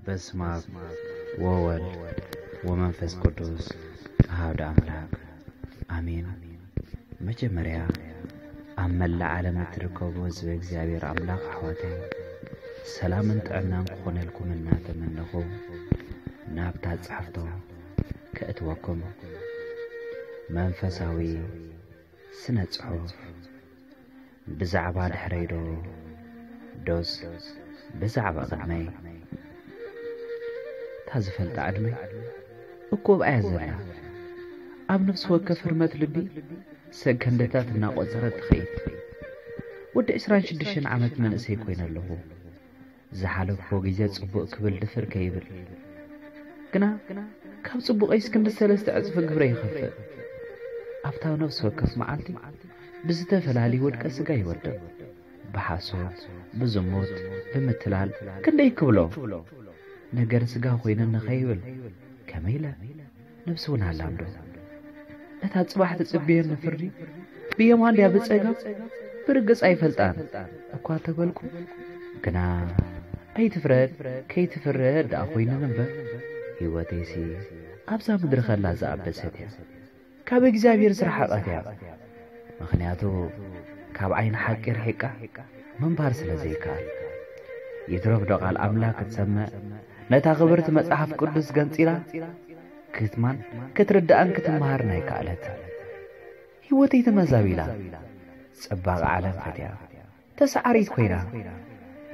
በስመ አብ ወወልድ ወመንፈስ ቅዱስ አሐዱ አምላክ አሜን። መጀመርያ ኣብ መላእ ዓለም እትርከቡ ህዝበ እግዚኣብሔር ኣምላኽ ኣሕዋተይ ሰላምን ጥዕናን ክኾነልኩም እናተመነኹ ናብታ ጻሕፍቶ ከእትወኩም። መንፈሳዊ ስነ ጽሑፍ። ብዛዕባ ድሕረይ ዶ ዶስ ብዛዕባ ቅድመይ? እታ ዝፈልጣ ዕድመይ እኮ ኣብኣ እያ ዘላ። ኣብ ነፍሲ ወከፍ ህርመት ልቢ ሰከንድታት እናቖጸረት ትኸይድ። ወዲ ዕስራን ሽዱሽተን ዓመት መንእሰይ ኮይነ ኣለኹ። ዝሓለፍዎ ግዜ ጽቡቕ ክብል ድፍር ከይብል ግና ካብ ጽቡቐይስ ክንዲ ሰለስተ ዕጽፊ ግብረ ይኸፍእ። ኣብታ ነፍሲ ወከፍ መዓልቲ ብዝተፈላለዩ ውድቀ ስጋ ይወድቕ። ብሓሶት፣ ብዝሙት፣ ብምትላል ክንደይ ክብሎ። ነገር ስጋ ኮይነ ንኸይብል ከመይ ኢለ ነብሲ እውን ሃላም ዶ? ነታ ጽባሕ ትጽብየኒ ፍርዲ ብየማን ድያ ብጸጋም ብርግጽ ኣይፈልጣን እኳ ተበልኩ። ግና ኣይትፍረድ ከይትፍረድ ደኣ ኮይነን እምበር ህይወተይሲ ኣብዛ ምድሪ ከላ ዝኣበሰት እያ። ካብ እግዚኣብሔር ዝረሓቐት እያ። ምኽንያቱ ካብ ዓይኒ ሓቂ ርሒቃ ምንባር ስለ ዘይከኣል። ይትረፍ ዶ ቃል ኣምላኽ ክትሰምዕ ነታ ክብርቲ መጽሓፍ ቅዱስ ገንጺላ ክትማን ክትርድኣን ክትመሃርን ኣይከኣለትን። ህይወተይ ተመዛቢላ ጽባቐ ዓለም ፈትያ ተሰዓሪት ኮይና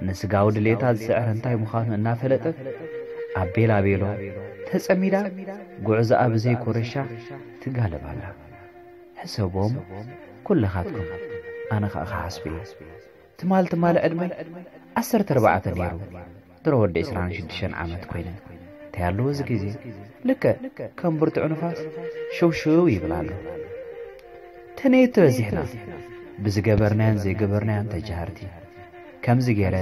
ንስጋዊ ድሌታ ዝስዕር እንታይ ምዃኑ እናፈለጠት ኣብ ቤላ ቤሎ ተጸሚዳ ጉዕዞኣ ብዘይ ኮረሻ ትጋለብ ኣላ። ሕሰቦም ኩልኻትኩም ኣነ ኸኣ ክሓስብ እየ። ትማል ትማል ዕድመይ ዓሰርተ ኣርባዕተ ነይሩ። ድሮ ወዲ ዕስራን ሽዱሽተን ዓመት ኮይነ እንታይ ኣለዎ እዚ ግዜ ልክዕ ከም ብርቱዕ ንፋስ ሽው ሽው ይብል ኣሎ። ተነየት በዚሕና ብዝገበርናዮን ዘይገበርናዮን ተጃሃርቲ። ከምዚ ገይረ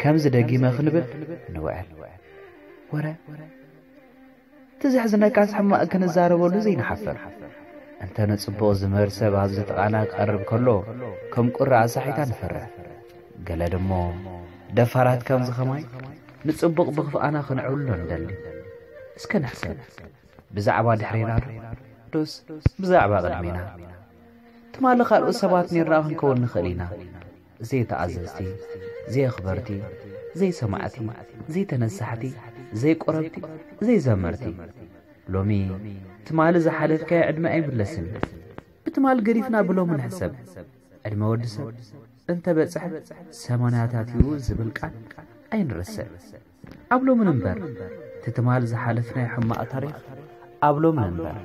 ከምዚ ደጊመ ክንብል ንውዕል። ወረ እቲ ዘሕዝነካስ ሕማቕ ክንዛረበሉ ዘይንሓፍር። እንተ ንጽቡቕ ዝምህር ሰብ ኣብዚ ጥቓና ክቐርብ ከሎ ከም ቁሪ ኣሳሒታ ንፈርሕ። ገለ ድሞ ደፋራት ከምዚ ኸማይ ንጽቡቕ ብኽፍኣና ክንዕብሎ ንደሊ። እስከ ንሕሰብ። ብዛዕባ ድሕሬና ዶ ዶስ ብዛዕባ ቅድሜና? ትማሊ ካልኦት ሰባት ኔርና ክንከውን ንኽእል ኢና። ዘይተኣዘዝቲ፣ ዘየኽበርቲ፣ ዘይሰማዕቲ፣ ዘይተነሳሕቲ፣ ዘይቆረብቲ፣ ዘይዘመርቲ። ሎሚ ትማሊ ዝሓለፍካዮ ዕድመ ኣይምለስን። ብትማል ገዲፍና ብሎሚ ንሕሰብ። ዕድመ ወዲ ሰብ እንተ በጽሐ ሰማንያታት እዩ ዝብል ቃል ኣይንረስዕ። ኣብ ሎሚ ንንበር። እቲ ትማል ዝሓለፍናዮ ሕማቕ ታሪኽ ኣብ ሎሚ ንንበር።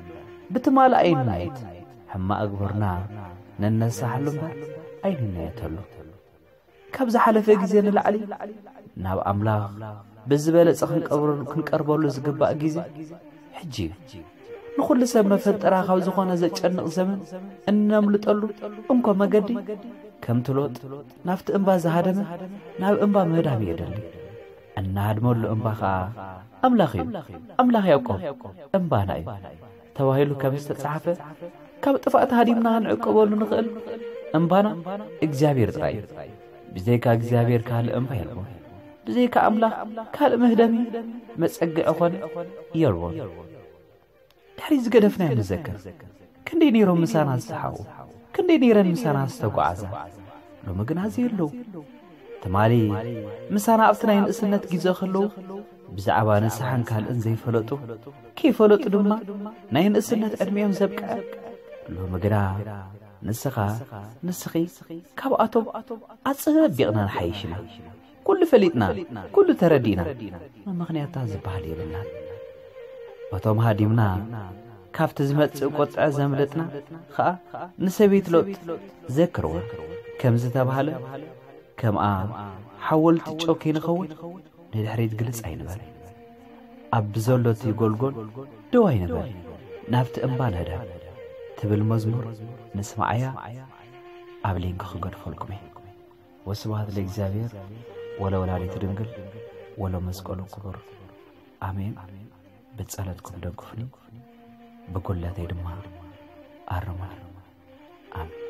ብትማል ኣይንናየት። ሕማቕ ግብርና ንነሳሕሉ እምበር ኣይንናየተሉ። ካብ ዝሓለፈ ግዜ ንላዕሊ ናብ ኣምላኽ ብዝበለጸ ክንቀብረሉ-፣ ክንቀርበሉ ዝግባእ ግዜ ሕጂ እዩ። ንኹሉ ሰብ መፈንጠራ ካብ ዝኾነ ዘጨንቕ ዘመን እነምልጠሉ እንኮ መገዲ ከምቲ ሎጥ ናብቲ እምባ ዝሃደመ ናብ እምባ ምህዳም የደሊ። እናሃድመሉ እምባ ኸኣ ኣምላኽ እዩ። ኣምላኽ ያዕቆብ እምባና እዩ ተባሂሉ ከም ዝተጻሕፈ ካብ ጥፍኣት ሃዲምና ክንዕቀበሉ ንኽእል እምባና እግዚኣብሔር ጥራይ እዩ። ብዘይካ እግዚኣብሔር ካልእ እምባ የልቦን። ብዘይካ ኣምላኽ ካልእ መህደሚ መጸግዒ ኾነ የልቦን። ድሕሪ ዝገደፍናዮ ንዘክር። ክንደይ ነይሮም ምሳና ዝሰሓቑ፣ ክንደይ ነይረን ምሳና ዝተጓዓዛ። ሎሚ ግና እዚ የለዉ። ትማሊ ምሳና ኣብቲ ናይ ንእስነት ግዜ ከለዉ ብዛዕባ ንስሓን ካልእን ዘይፈለጡ፣ ከይፈለጡ ድማ ናይ ንእስነት ዕድሜኦም ዘብቅዐ። ሎሚ ግና ንስኻ፣ ንስኺ ካብኣቶም ኣጸቢቕና ንሓይሽ ኢና። ኩሉ ፈሊጥና፣ ኩሉ ተረዲእና፣ መመኽንያታ ዝበሃል የብልናን። በቶም ሃዲምና ካብቲ ዝመጽእ ቁጥዐ ዘምለጥና ኸኣ ንሰበይቲ ሎጥ ዘክርዋ። ከም ዝተባህለ፣ ከምኣ ሓወልቲ ጨው ከይንኸውን ንድሕሪት ግልጽ ኣይንበል። ኣብ ብዘሎ እቲ ጎልጎል ደው ኣይንበል፣ ናብቲ እምባ ንህደም ትብል መዝሙር ንስምዓያ ኣብ ሊንክ ክገድፈልኩም እየ። ወስብሐት ለእግዚኣብሔር ወለወላዲቱ ድንግል ወለመስቀሉ ክቡር። ኣሜን። ብጸሎትኩም ደግፉኒ፣ ብጉድለተይ ድማ ኣርሙኒ። ኣሜን።